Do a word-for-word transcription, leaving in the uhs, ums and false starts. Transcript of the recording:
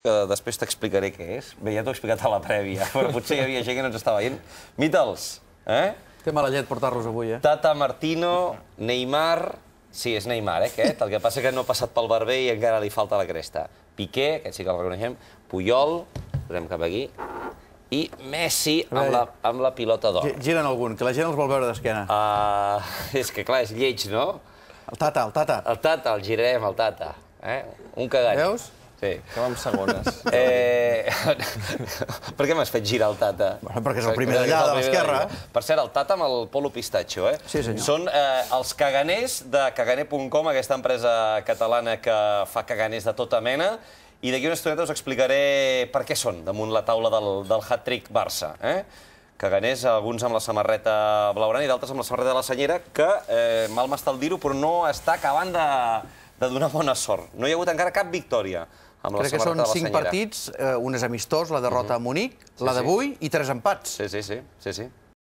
que després t'explicaré què és. Bé, ja t'ho he explicat a la prèvia, però potser hi havia gent que no ens estava veient. Mítels, eh? Té mala llet portar-los avui, eh? Tata Martino, Neymar... Sí, és Neymar, eh, aquest. El que passa que no ha passat pel barber i encara li falta la cresta. Piqué, aquest sí que el reconeixem, Puyol, posem cap aquí, i Messi amb la, amb la pilota d'or. Giren algun, que la gent els vol veure d'esquena. Uh, és que, clar, és lleig, no? El Tata, el Tata. El Tata, el girarem, el Tata. Eh? Un cagall. Veus? Sí. Que va amb segones. Eh... per què m'has fet girar el Tata? Bueno, perquè és el primer d'allà, de l'esquerra. Per cert, el Tata amb el polo pistatxo, eh? Sí, senyor. Són eh, els caganers de caganer punt com, aquesta empresa catalana que fa caganers de tota mena, i d'aquí una estoneta us explicaré per què són damunt la taula del, del hat-trick Barça, eh? Caganers, alguns amb la samarreta blaugrana i d'altres amb la samarreta de la senyera, que, eh, mal m'està el dir-ho, però no està acabant de, de donar bona sort. No hi ha hagut encara cap victòria amb la Crec que samarreta són de la cinc senyera. partits, eh, un és amistós, la derrota a Munic, la d'avui i tres empats. Sí, sí, sí, sí, sí.